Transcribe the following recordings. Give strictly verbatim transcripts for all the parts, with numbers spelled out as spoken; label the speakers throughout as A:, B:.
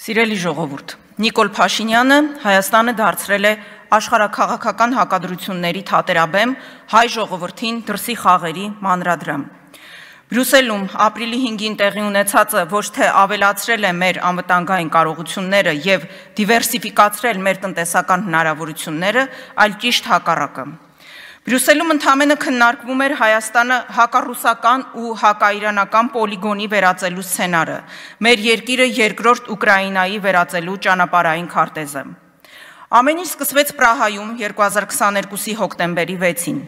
A: Սիրելի ժողովուրդ, Նիկոլ Փաշինյանը Հայաստանը դարձրել է աշխարհաքաղաքական հակադրությունների թատերաբեմ, հայ ժողովրդին դրսի խաղերի մանրադրամ։ Բրյուսելում ապրիլի հինգին տեղի ունեցածը ոչ թե ավելացրել է մեր անվտանգային կարողությունները և դիվերսիֆիկացրել մեր տնտեսական հնարավորությունները, այլ ճիշտ հակառակը։ Բրյուսելում ընդամենը քննարկվում էր Հայաստանը հակառուսական ու հակաիրանական պոլիգոնի վերածելու սցենարը, մեր երկիրը երկրորդ Ուկրաինայի վերածելու ճանապարհային քարտեզը։ Ամեն ինչ սկսվեց Պրահայում երկու հազար քսաներկուսի հոկտեմբերի վեցին։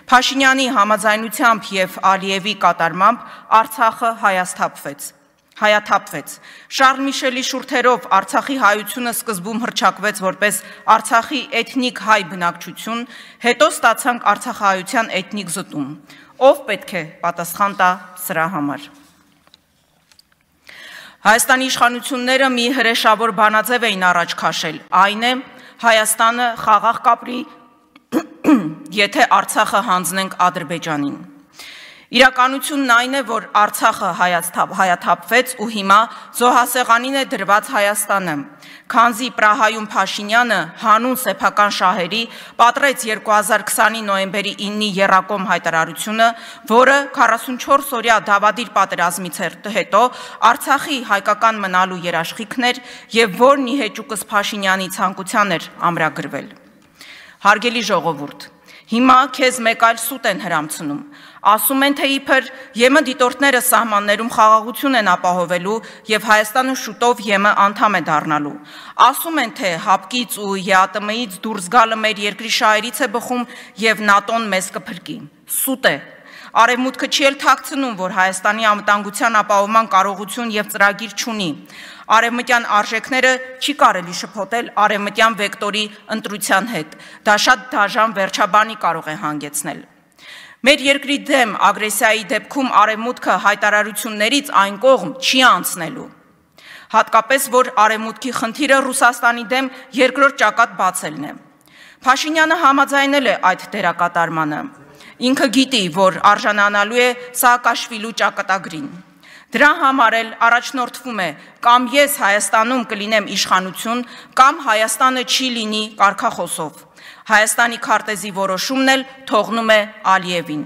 A: Փաշինյանի համաձայնությամբ և Ալիևի կատարմամբ Արցախը հայաթափվեց։ Հայաթափվեց։ Շարլ Միշելի շուրթերով Արցախի հայությունը սկզբում հռչակվեց որպես Արցախի էթնիկ հայ բնակչություն, հետո ստացանք արցախահայության էթնիկ զտում։ Ով պետք է պատասխան տա սրա համար։ Հայաստանի իշխանությունները մի հրեշավոր բանաձև էին առաջ քաշել, այն է Հայաստանը խաղաղ կապրի, եթե Արցախը հանձնենք Ադրբեջանին։ Իրականությունն այն է, որ Արցախը հայաթափվեց ու հիմա զոհասեղանին է դրված Հայաստանը, քանզի Պրահայում Փաշինյանը հանուն սեփական շահերի պատռեց երկու հազար քսանի նոյեմբերի իննի եռակոմ հայտարարությունը, որը քառասունչորս օրյա դավադիր պատերազմից հետո Արցախի հայկական մնալու երաշխիքն էր և որն ի հեճուկս Փաշինյանի ցանկության էր ամրագրվել։ Հարգելի ժողովուրդ, հիմա քեզ մեկ այլ սուտ են հրամցնում։ Ասում են, թե իբր ԵՄ դիտորդները սահմաններում խաղաղություն են ապահովելու և Հայաստանը շուտով ԵՄ անդամ է դառնալու։ Ասում են, թե հապկից ու ԵԱՏՄ-ից դուրս գալը մեր երկրի շահերից է բխում և ՆԱՏՕ-ն մեզ կփրկի։ Սուտ է։ Արևմուտքը չի էլ թաքցնում, որ Հայաստանի անվտանգության ապահովման կարողություն և ծրագիր չունի։ Արևմտյան արժեքները չի կարելի շփոթել արևմտյան վեկտորի ընտրության հետ։ Դա շատ դաժան վերջաբանի կարող է հանգեցնել։ Մեր երկրի դեմ ագրեսիայի դեպքում արևմուտքը հայտարարություններից այն կողմ չի անցնելու։ Հատկապես, որ արևմուտքի խնդիրը Ռուսաստանի դեմ երկրորդ ճակատ բացելն է։ Փաշինյանը համաձայնել է այդ դերակատարմանը։ Ինքը գիտի, որ արժանանալու է Սաակաշվիլու ճակատագրին։ Դրա համար էլ առաջնորդվում է կամ ես Հայաստանում կլինեմ իշխանություն, կամ Հայաստանը չի լինի կարգախոսով։ Հայաստանի քարտեզի որոշումն էլ թողնում է Ալիևին։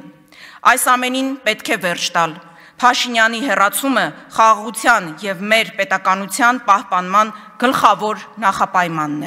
A: Այս ամենին պետք է վերջ տալ։ Փաշինյանի հեռացումը խաղաղության և մեր պետականության պահպանման գլխավոր նախապայմանն է։